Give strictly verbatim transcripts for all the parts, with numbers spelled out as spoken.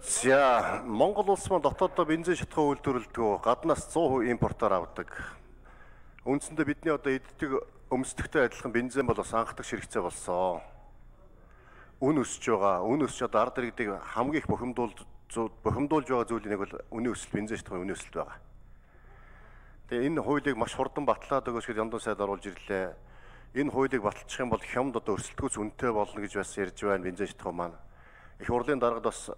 За Монгол улс маань дотооддоо бензин шатхуу үйлдвэрлэдэг, гаднаас сто перцент импортоор авдаг. Үндсэндээ бидний одоо иддэг өмсдөгтэй адилхан бензин бол бас анхдах ширхцээ болсон. Үн өсөж байгаа. Үн өсөж одоо ард иргэдэг хамгийн их бухимдуулж бухимдуулж байгаа зүйлийн нэг бол үнийн өсөлт, бензин шатхууны үнийн өсөлт байгаа. Тэгээ энэ хуулийг маш хурдан батлаад өгөөч гэж Яндуу сайд оруулж ирлээ. Энэ хуулийг баталчих юм бол хямд одоо өрсөлдөхөөс үнэтэй болно гэж бас ярьж байна бензин шатхуу маань. Их хурлын даргад бас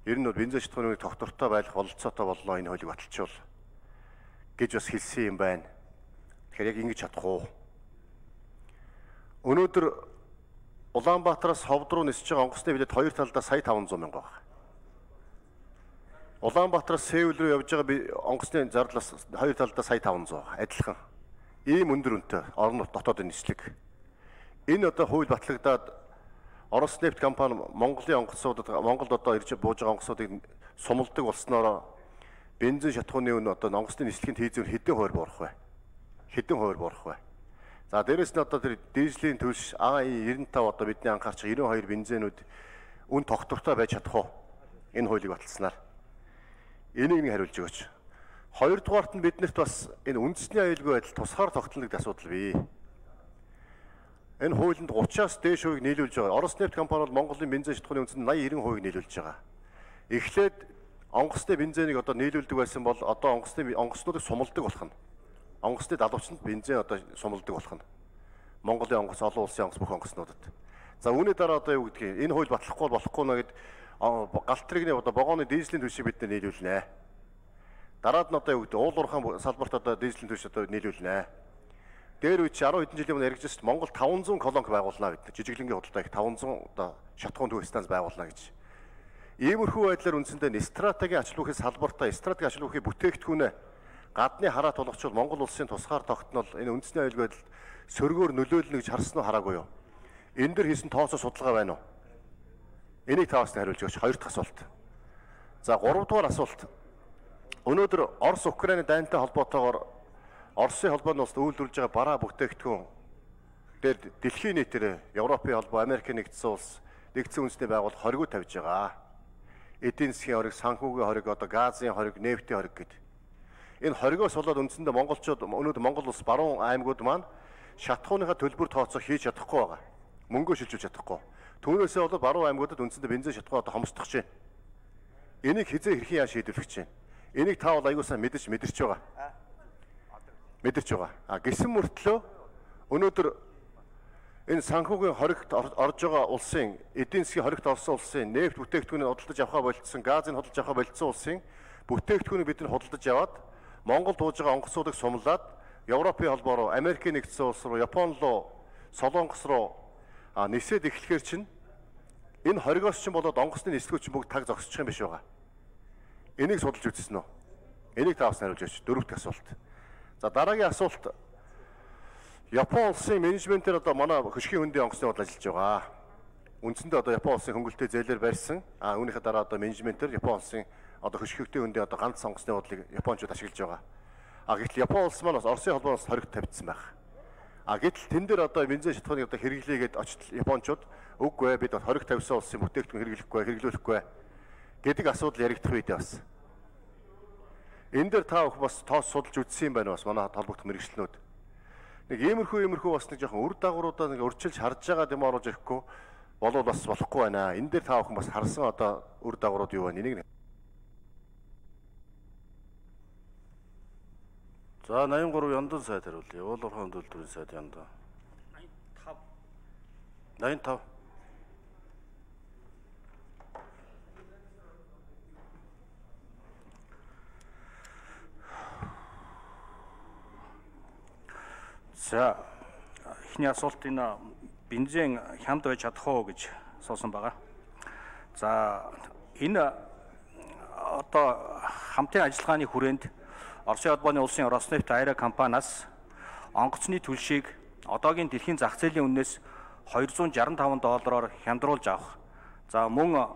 ер нь бензин шатхууны тогтвортой байх бололцоотой боллоо энэ хуулийг баталчихвал гэж бас хэлсэн юм байна. Тэгэхээр яг ингэж чадах уу? Өнөөдөр Улаанбаатараас Ховд руу нисэж байгаа онгоцны билет хоёр талдаа сая таван зуун мянга байна. Улаанбаатараас Сеул руу явж байгаа онгоцны зардалаас хоёр талдаа сая таван зуун адилхан. Ийм өндөр үнэтэй орон дотоодын нислэг. Энэ одоо хууль батлагдаад Орос нефть компани Монголын онгоцнуудад Монголд одоо ирж бууж байгаа онгоцнуудыг сумалдаг болсноор бензин шатхууны үн одоо онгоцны нислэгийн тийзүүр хэдэн хувиар буурах вэ? Хэдэн хувиар буурах вэ? За дээрэс нь одоо тэр дизелийн төлш А И девяносто пять одоо бидний анхаарч девяносто two бензинүүд үн тогтвортой байж чадах уу? Энэ хуулийг баталснаар. Энийг нэг хариулж өгөөч. Хоёрдугаарт нь биднэрт бас энэ үндэсний аюулгүй байдал тусгаар тогтнолыг асуудал бий. Энэ хуулинд thirty-аас дээш хувийг нийлүүлж байгаа. Орос нефть компани бол Монголын бензин шатхууны үндэсэнд eighty ninety хувийг нийлүүлж байгаа. Эхлээд онгоцны бензинийг одоо нийлүүлдэг байсан бол одоо онгоцны онгоцнуудыг сумалдаг болох нь. Онгоцны далуучанд бензин одоо сумалдаг болох нь. Монголын онгоц, олон улсын онгоц бүх онгоцнуудад. За үүний дараа одоо юу гэдгийг энэ хууль батлахгүй болохгүй нэ гэд галт тэрэгний одоо вагоны дизелийн төлшийг бид нийлүүлнэ. Дараад нь одоо юу гэдэг уул уурхайн салбарт одоо дизелийн төлш одоо нийлүүлнэ. Дээр үе чи ten хэдэн жилийн өмнө яригдсан Монгол five hundred колонк байгуулнаа гэдэг. Жижиглэнгийн худалдаа их five hundred одоо шатхуун төв станц байгуулнаа гэж. Иймэрхүү байдлаар үндсэндээ стратегийн ач холбогдохын салбартаа стратегийн ач холбогдохын бүтээгдэхүүнээ гадны хараа тулгчвал Монгол улсын тусгаар тогтнол энэ үндэсний аюулгүй байдал сөргөөр нөлөөлнө гэж харсан уу хараагүй юу? Энэ дэр хийсэн тооцоо судалгаа байна уу? Энийг таваас нь хариулж өгч. Хоёр дахь асуулт. За гурав дахь асуулт. Өнөөдөр Орос Украины дайнтай холбоотойгоор Оросын холбооны улсад үйлдвэрлэж байгаа бараа бүтээгдэхүүн дээр дэлхийн нийтээр Европын холбоо, Америкийн нэгдсэн улс, нэгдсэн үндэсний байгууллага хоригоо тавьж байгаа. Эдийн засгийн хориг, санхүүгийн хориг, одоо газын хориг, нефтийн хориг гэдэг. Энэ хоригоос болоод үндсэндээ монголчууд өнөөдөр Монгол улс баруун аймагуд маань шатхууныхаа төлбөр тооцоо хийж чадахгүй байгаа. Мөнгөө шилжүүлж чадахгүй. Түүнээсээ болоод баруун аймагуудад үндсэндээ бензин шатхуу одоо хомсдох чинь. Энийг хизээ хэрхэн яа шийдвэрлэх чинь. Энийг та бол аягүй сайн мэдэрч мэдэрч байгаа. Мэдэрч байгаа. А гисэн мөртлөө өнөөдөр энэ санхүүгийн хоригт орж байгаа улсын эдийн засгийн хоригт орсон улсын нефть бүтээгдэхүүнийг худалдаж авахаа болцсон, газыг худалдаж авахаа болцсон улсын бүтээгдэхүүнийг бид нар худалдаж аваад Монгол дууж байгаа онгоцнуудыг сумлаад Европын холбоо руу, Америкийн нэгдсэн улс руу, Япон руу, Солонгос руу а нисээд эхлэхээр чинь энэ хоригоос чинь болоод онгоцны нислэгүүд чинь бүгд таг зогсчих юм биш байгаа. Энийг судалж үзсэн үү? Энийг таваас хариулж өгч. Дөрөв дэх асуулт. За дараагийн асуулт. Япон улсын менежментээр одоо манай хөшгийн хөндийн онгоцны бодлоо ажиллаж байгаа. Үндсэндээ одоо Япон улсын хөнгөлтэй зээлээр барьсан. А үүнийхээ дараа одоо менежментээр Япон улсын одоо хөшгөгтэй хөндийн одоо ганц онгоцны бодлыг Япончууд ашиглаж байгаа. А гэтэл Япон улс маань бас Оросын холбооноос хоригт тавьдсан байх. А гэтэл тэн дээр одоо бензин шатхууныг одоо хэрэглээгээд очт Япончууд үгүй бид хориг тавьсан улсын бүтээгдэхүүн хэрэглэхгүй, хэрэглүүлэхгүй гэдэг асуудал яригдах үед бас. Энэ дээр та бүхэн бас тоос судалж үзсэн юм байна бас манай холбогдох мэргэжлэнүүд. Нэг иймэрхүү иймэрхүү бас нэг жоохон үр дагавруудаа нэг урьдчилж харж байгаа юм оруулж ирэхгүй болов бас болохгүй байна. Энэ дээр та бүхэн бас харсан одоо үр дагаврууд юу байна? Энийг За eighty three Яндан сайд хариулъя. Уул уурхайн төлөвлөрийн сайд Яндан. ninety five. За эхний асуулт энэ бензин хямд байж чадах уу гэж суусан байгаа. За энэ одоо хамтын ажиллагааны хүрээнд Оросын холбооны улсын Роснефть Айра компаниас онгоцны төлшийг одоогийн дэлхийн зах зээлийн үннээс two hundred sixty-five доллараар хямдруулж авах. За мөн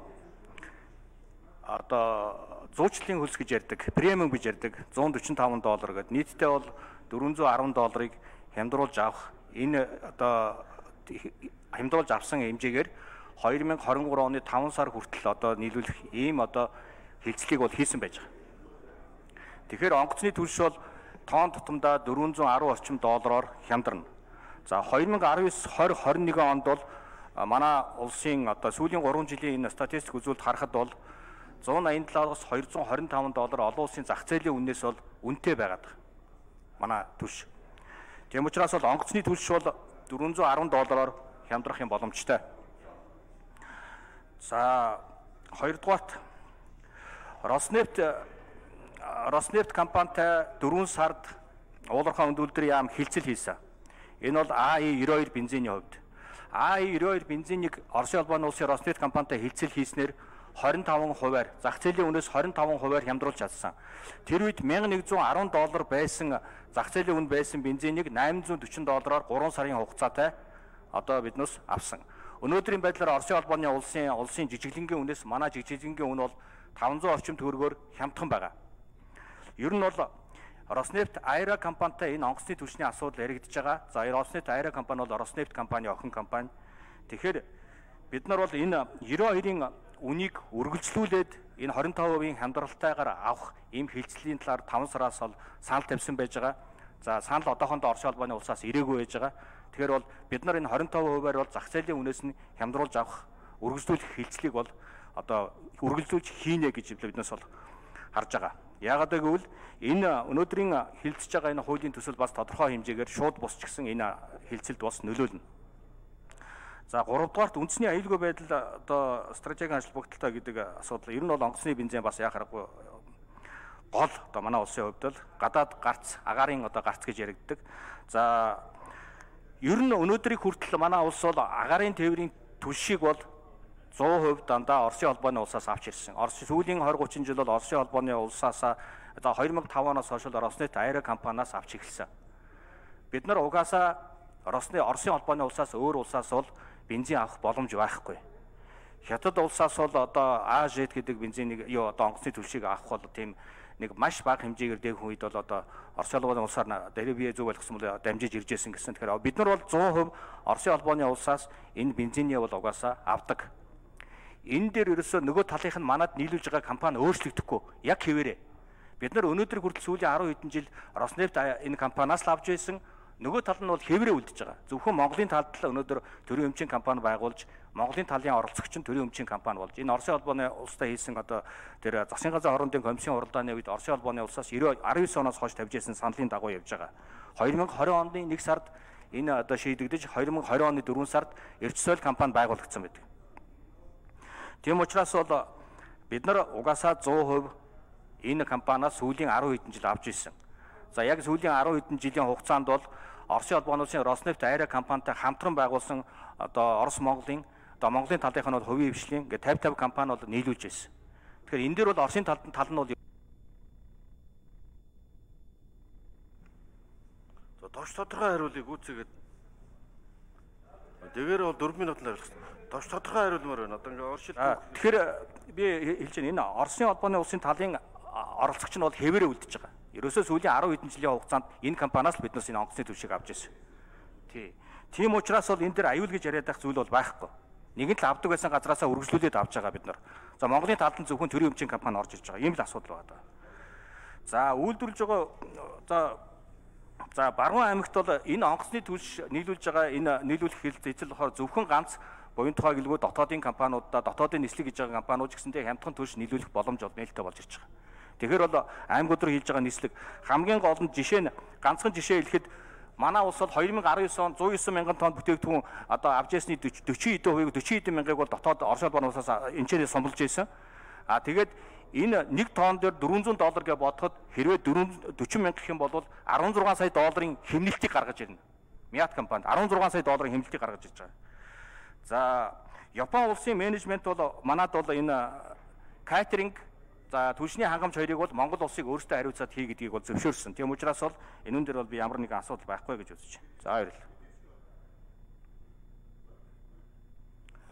одоо зуучлалын хөлс гэж ярьдаг, премиум гэж ярьдаг one hundred forty-five доллар гэдэг нийтдээ бол four hundred ten долларыг хямдруулж авах. Энэ одоо хямдруулж авсан хэмжээгээр two thousand twenty-three оны five сар хүртэл одоо нийлүүлэх ийм одоо хилцлийг бол хийсэн байж байгаа. Тэгэхээр онгоцны түлш бол тоон тутамдаа four hundred ten орчим доллараар хямдарна. За two thousand nineteen twenty twenty-one онд бол манай улсын одоо сүүлийн three жилийн энэ статистик үзүүлэлт харахад бол one eighty-seven-аас two hundred twenty-five доллар олон улсын зах зээлийн үнээс бол үнэтэй байгаад байна. Манай түлш. Тийм учраас бол онгоцны түлш бол four hundred ten доллараар хямдрах юм боломжтой. За хоёрдугаарт Роснефть Роснефть компанитай four сард уулуурхай өндөлдрийн яам хилцэл хийсэн. Энэ бол А И ninety-two бензиний хувьд. А И ninety-two бензинийг Оросын улбаны улсын Роснефть компанитай хилцэл хийснээр twenty-five хувиар зах зээлийн үнээс twenty-five хувиар хямдруулж чадсан. Тэр үед eleven ten доллар байсан зах зээлийн үн байсан бензинийг eight hundred forty доллараар three сарын хугацаатай одоо биднээс авсан. Өнөөдрийн байдлаар Оросын улбаны улсын улсын жижиглэнгийн үнээс манай жижиглэнгийн үн бол five hundred орчим төгрөгөөр хямдхан байгаа. Ер нь бол Роснефть Айра компанитай энэ онгоцны түлшний асуудал яригдж байгаа. За Роснефть Айра компани бол Роснефть компани охин компани. Тэгэхээр бид нар бол энэ ninety-two-ийн үнийг үргэлжлүүлээд энэ twenty-five хувийн хямдралтайгаар авах ийм хилцлийн талаар five сараас бол санал тавьсан байж байгаа. За санал одоохондоо Оросын улбаны улсаас ирээгүй байж байгаа. Тэгэхээр бол бид нар энэ twenty-five хувиар бол зах зээлийн үнээс нь хямдруулж авах үргэлжлүүлэх хилцлийг бол одоо үргэлжлүүлж хийнэ гэж биднээс бол харж байгаа. Яагаад гэвэл энэ өнөөдрийн хилцэж байгаа энэ хуулийн төсөл бас тодорхой хэмжээгээр шууд бусч гисэн энэ хилцэлд бас нөлөөлнө. За гуравдугаарт үндэсний аюулгүй байдал одоо стратегийн холбогдолтой гэдэг асуудал ер нь бол онгоцны бензин бас яах аргагүй гол одоо манай улсын хувьд л гадаад гарц агаарын одоо гарц гэж яригддаг. За ер нь өнөөдрийг хүртэл манай улс бол агаарын тээврийн түлшийг бол one hundred percent дандаа Оросын улбаны улсаас авч ирсэн. Орос сүүлийн twenty thirty жил бол Оросын улбаны улсаас одоо two thousand five оноос хойш Роснефть Айра компаниас авч эхэлсэн. Бид нар угаасаа Росны Оросын улбаны улсаас өөр улсаас бол бензин авах боломж байхгүй. Хятад улсаас бол одоо А Ж гэдэг бензинийг юу одоо онгоцны түлшийг авах бол тийм нэг маш бага хэмжээгээр дээх үед бол одоо Оросын улбаны улсаар дээрээ бие зүг болгосон бол дамжиж ирж байсан гэсэн. Тэгэхээр бид нар бол one hundred percent Оросын улбаны улсаас энэ бензиний бол угаасаа авдаг. Энэ дээр ерөөсөө нөгөө талынх нь манад нийлүүлж байгаа компани өөрчлөгдөхгүй яг хэвээрээ. Бид нар өнөөдөр хүртэл сүүлийн ten хэдэн жил Роснефть энэ компаниас л авч байсан. Нөгөө тал нь бол хэвээрээ үлдэж байгаа. Зөвхөн Монголын талд л өнөөдөр төрийн өмчийн компани байгуулж, Монголын талын оролцогч нь төрийн өмчийн компани болж, энэ Оросын улбаны улстай хийсэн одоо тэр засгийн газрын хоорондын комиссийн уралдааны үед Оросын улбаны улсаас nineteen оноос хойш тавьж ирсэн саналын дагуу явж байгаа. twenty twenty оны one сард энэ одоо шийдэгдэж twenty twenty оны four сард Эрчсойл компани байгуулагдсан байдаг. Тийм учраас бол бид нар угаасаа one hundred percent энэ компаниас сүүлийн ten хэдэн жил авч ирсэн. За яг сүүлийн ten хэдэн жилийн хугацаанд бол Оросын улбаны улсын Роснефть Айра компанитай хамтран байгуулсан одоо Орос Монголын одоо Монголын талынх нь бол хувийн хвшлийн ингээд fifty fifty компани бол нийлүүлж байсан. Тэгэхээр энэ дээр бол Оросын талд тал нь бол за товч тодорхой хариулыг үүсгээд Дэгээр бол four минутанд хариулсан. Товч тодорхой хариулмаар байна. Одоо ингээ оршил. Тэгэхээр би хэлж байна энэ Оросын улбаны улсын талын оролцогч нь бол хэвээрээ үлдэж байгаа. Ерөөсөө сүүлийн ten хэдэн жилийн хугацаанд энэ компаниас л биднээс энэ онгоцны түвшийг авч ирсэн. Тий. Тийм учраас бол энэ дээр аюул гэж яриад байх зүйл бол байхгүй. Нэгэн л авдаг байсан газраасаа үргэлжлүүлээд авч байгаа бид нар. За Монголын талд нь зөвхөн төрийн өмчийн компани орж ирж байгаа. Ийм л асуудал байна. За үйлдвэрлэж байгаа за за Баруун аймагт бол энэ онгоцны түлш нийлүүлж байгаа энэ нийлүүлэх хэлцэл болохоор зөвхөн ганц буян тухай гэлгүй дотоодын компаниудаа дотоодын нислэг гэж байгаа компаниуд ч гэсэндээ хямдхан түлш нийлүүлэх боломж бол нээлттэй болж ирж байгаа. Тэгэхээр бол аймагуд руу хийж байгаа нислэг хамгийн гол нь жишээ нь ганцхан жишээ хэлэхэд манай улс бол twenty nineteen он one oh nine мянган тонн бүтээгдэхүүн одоо авч ясны forty хэдэн хувийг forty хэдэн мянгаыг бол дотоод Оросын улбаны улсаас энэчээр сумлж байсан. А тэгээд энэ нэг тонн дээр four hundred доллар гэж бодоход хэрвээ forty мянга гэх юм бол sixteen сая долларын хэмнэлтийг гаргаж ирнэ. Мят компанид sixteen сая долларын хэмнэлтийг гаргаж ирж байгаа. За Япон улсын менежмент бол манад бол энэ катеринг за түлшний хангамж хоёрыг бол Монгол улсыг өөрсдөө хариуцаад хий гэдгийг бол зөвшөөрсөн. Тийм учраас бол энүүн дээр бол би ямар нэгэн асуудал байхгүй гэж үзэж байна. За баярлалаа.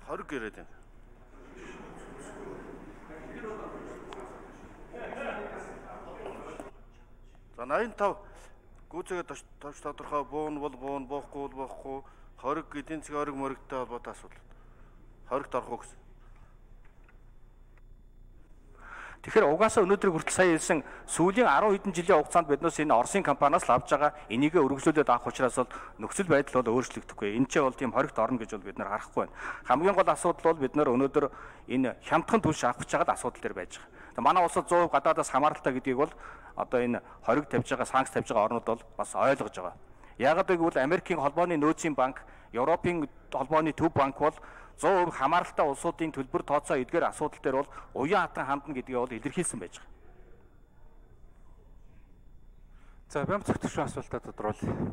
twenty гэрээд байна. За ninety-five гүйцэгээ товч тодорхой буун бол буун, буухгүй бол буухгүй, хориг эдийн засгийн ориг моригтой холбоотой асуудал. хоригт орох уу гэсэн. Тэгэхээр угаасаа өнөөдрийг хүртэл сая хэлсэн сүүлийн арван хэдэн жилийн хугацаанд биднээс энэ Оросын компаниас л авж байгаа энийгээ өргөжлүүлээд авах учраас бол нөхцөл байдал бол өөрчлөгдөхгүй. Энэ ч бол тийм хоригт орно гэж бол бид нар харахгүй байна. Хамгийн гол асуудал бол бид нар өнөөдөр энэ хямдхан түлш авах гэж байгаа асуудал дээр байж байгаа. Тэгээ манай улсад сто процент гадаадаас хамааралтай гэдгийг бол одоо энэ хориг тавьж байгаа, санкц тавьж байгаа орнууд бол бас ойлгож байгаа. Яагаад гэвэл Америкийн холбооны нөөцийн банк, Европын холбооны төв банк бол сто процент хамааралтай улсуудын төлбөр тооцоо эдгээр асуудал дээр бол уян хатан хандна гэдгийг бол илэрхийлсэн байж байгаа. За, бямц зөвтгшин асуултаа тодруулъя.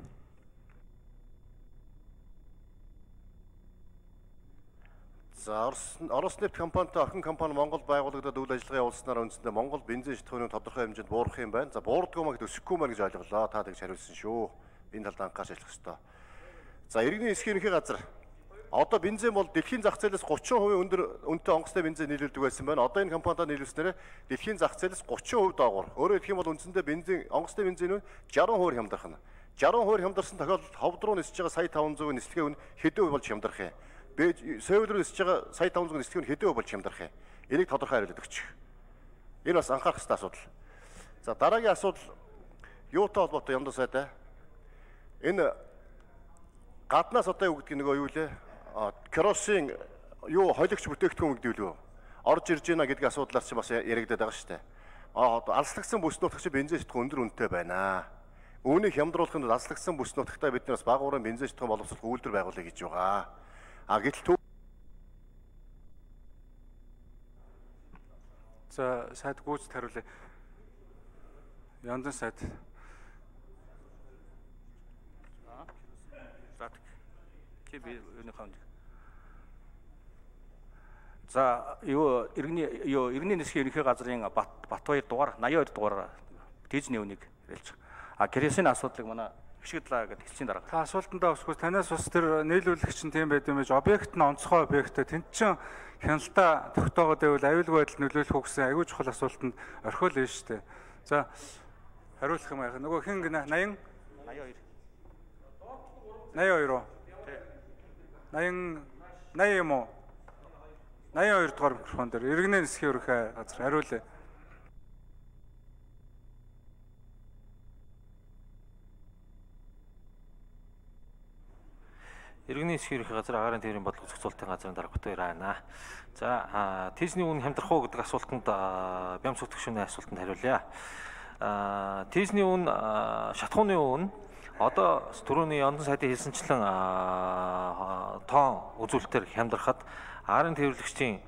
За, Орос Орос нефть компанитай охин компани Монгол байгуулагдаад үйл ажиллагаа явуулснаар үндсэндээ Монгол бензин шатхууны тодорхой хэмжээнд буурах юм байна. За, буурдгүй маа гэдэг өсөхгүй маа гэж ойлголоо. Та тэгж хариулсан шүү. Энэ талд анхаарч ажиллах ёстой. За, иргэний эсхийн ерөнхий газар одоо бензин бол дэлхийн зах зээлээс гучин хувийн өндөр үнэтэй онгоцтой бензин нийлүүлдэг байсан байна. Одоо энэ компанитай нийлүүлснээр дэлхийн зах зээлээс гучин хувь доогуур. Өөрөөр хэлэх юм бол үндсэндээ бензин онгоцтой бензин нь шаран хувь хямдарх нь. шаран хувь хямдарсан тохиолдолд ховд руу нисэж байгаа сая таван зуун нислэгээ үн хэдэн хувь болж хямдарх юм. Сеул руу нисэж байгаа сая таван зуун нислэгээ үн хэдэн хувь болж хямдарх юм. Энийг тодорхой хариулт өгч. Энэ бас анхаарах ёстой асуудал. За, дараагийн асуудал юутай холбоотой юм даа сайдаа. Энэ гаднаас одоо юу гэдэг нөгөө юу лээ? Керосин юу холигч бүтээгдэхүүн гэдэг үү? Орж ирж байна гэдгийг асуудлаар чи бас яригадаад байгаа шүү дээ. Аа алслагдсан бүс нутагч бензин шатхуун өндөр үнэтэй байна. Үүнийг хямдруулахын тулд алслагдсан бүс нутагтаа бид нараас бага уурын бензин шатхуун боловсрох үйлдвэр байгуулъя гэж байгаа. А гэтэл За, сайд гүйцэд хариулъя. Яндан сайд. За, юу иргэний юу иргэний нисхийн ерөнхий газрын Бат Батбаяр дугаар восемьдесят two дугаар тэжний үнийг хэлж байгаа. А керосин асуудлыг манай хшигдлаа гэдэг хэлцийн дараа. Та асуултандаа өсгөөс танаас ус тэр нийлүүлэгч нь тийм байд юм байж объект нь онцгой объект тэнд чин хяналтаа тогтоогоод байвал аюулгүй байдал нөлөөлөх үү гэсэн аюул чухал асуултанд орхиол нь шүү дээ. За, хариулах юм яах. Нөгөө хин гинэ восемьдесят восемьдесят two уу? восемьдесят восемьдесят юм уу? восемьдесят two дугаар микрофон дээр иргэний нисхийн ерөнхий газар хариулъя. Иргэний нисхийн ерөнхий газар агаарын тээврийн бодлого зохицуулалтын газрын дарга Батбаяр байна. За, тийзний үн хямдрах уу гэдэг асуултанд бямц зөвтгшүүний асуултанд хариулъя. Тийзний үн шатхууны үн одоо түрүүний Яндан сайдын хэлсэнчлэн тоон үзүүлэлтээр хямдрахад агаарын тээвэрлэгчдийн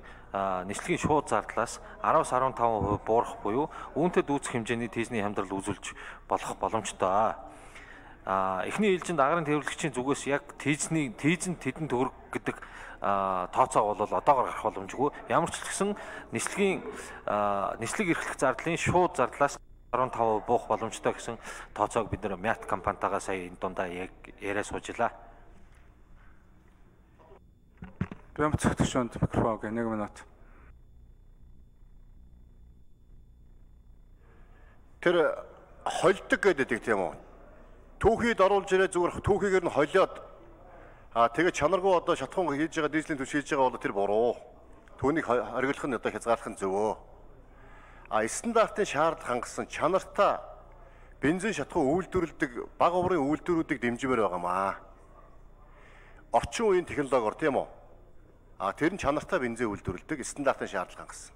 нислэгийн шууд зардлаас араас арван таван хувь буурах буюу үүнтэй дүүцэх хэмжээний тийзний хямдрал үзүүлж болох боломжтой. А эхний ээлжинд агаарын тээвэрлэгчийн зүгээс яг тийзний тийзэн тэдэн төгрөг гэдэг тооцоо бол одоогоор гарах боломжгүй. Ямар ч гэсэн нислэгийн нислэг эрхлэх зардлын шууд зардлаас арван таван хувь буух боломжтой гэсэн тооцоог бид нэр Мят компанитайгаа сая энэ дундаа яг яриа суужлаа. Бямц зөвтгшөнд микрофон гэ нэг минут. Тэр холдог гэдэг тийм үү? Түүхийд оруулж ирээ зүгээр түүхийгээр нь холиод аа тэгээ чанаргүй одоо шатхуун хийж байгаа дизелийн түвш хийж байгаа бол тэр буруу. Түүнийг хориглох нь одоо хязгаарлах нь зөвөө. А стандартын шаардлага хангасан чанартай бензин шатхуун үйлдвэрлэдэг бага урын үйлдвэрүүдийг дэмжмээр байгаамаа. Орчин үеийн технологиор тийм үү? А тэр нь чанартай бензин үйлдвэрлэдэг стандартын шаардлага хангасан.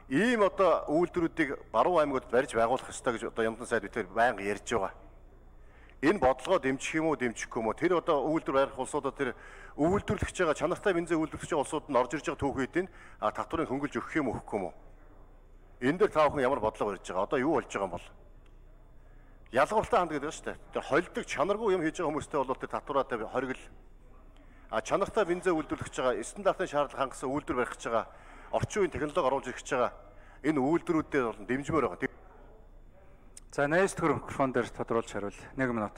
Ийм одоо үйлдвэрүүдийг баруун аймагуд барьж байгуулах ёстой гэж одоо Яндан сайд битээр байнга ярьж байгаа. Энэ бодлогоо дэмжих юм уу, дэмжихгүй юм уу? Тэр одоо үйлдвэр барих улсуудад тэр үйлдвэрлэж байгаа чанартай бензин үйлдвэрлэж байгаа улсууд нь орж ирж байгаа түүхийдийн татварыг хөнгөлж өгөх юм уу, өгөхгүй юм уу? Энэ дээр та бүхэн ямар бодлого барьж байгаа? Одоо юу болж байгаа юм бол? Ялгууртай ханд гэдэг шүү дээ. Тэр холдог чанаргүй юм хийж байгаа хүмүүстэй бол тэр татвараатай хоригл. А чанартай бензин үйлдвэрлэж байгаа стандартын шаардлага хангасан үйлдвэр барих гэж байгаа орчин үеийн технологи оруулж ирэх гэж байгаа энэ үйлдвэрүүдээр бол дэмжмээр байгаа. За, восемьдесят two микрофон дээр тодруулж хариул. нэг минут.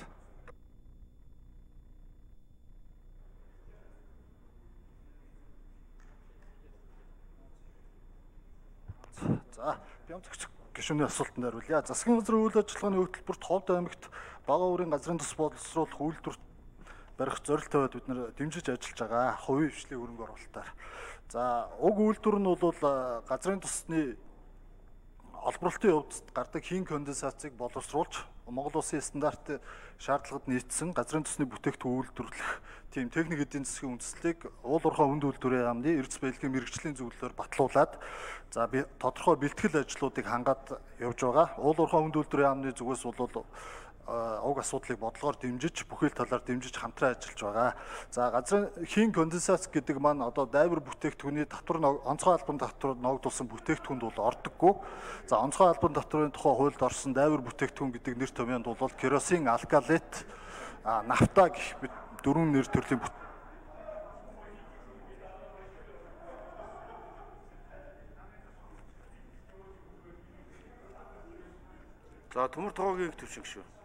За, бямц гишүүний асуултанд хариулъя. Засгийн газрын үйл ажиллагааны хөтөлбөрт Ховд аймагт бага урын газрын тус боловсруулах үйлдвэр барих зорилттой бид нэр дэмжиж ажиллаж байгаа. Хувийн хвшлийн хөрөнгө оруулалтаар. За уг үйлдвэр нь бол газрын тосны олборлолтын хувьд гардаг хийн конденсацийг боловсруулж Монгол улсын стандарт шаардлагад нийцсэн газрын тосны бүтээгдэхүүн үйлдвэрлэх тийм техник эдийн засгийн үндэслэлийг уул уурхай хүнд үйлдвэрийн яамны эрдэс баялагын мэрэгжлийн зөвлөлөөр батлуулад за би тодорхой бэлтгэл ажлуудыг хангаад явж байгаа. Уул уурхай хүнд үйлдвэрийн яамны зүгээс бол уг асуудлыг бодлогоор дэмжиж бүхэл талаар дэмжиж хамтран ажиллаж байгаа. За газрын хийн конденсац гэдэг маань одоо дайвар бүтээгдэхүүний татвар онцгой албан татвар ногдуулсан бүтээгдэхүүнд бол ордоггүй. За онцгой албан татварын тухай хуульд орсон дайвар бүтээгдэхүүн гэдэг нэр томьёонд бол керосин, алкалит, нафта гэх мэт дөрвөн нэр төрлийн За төмөр тогоогийн төвшинг шүү.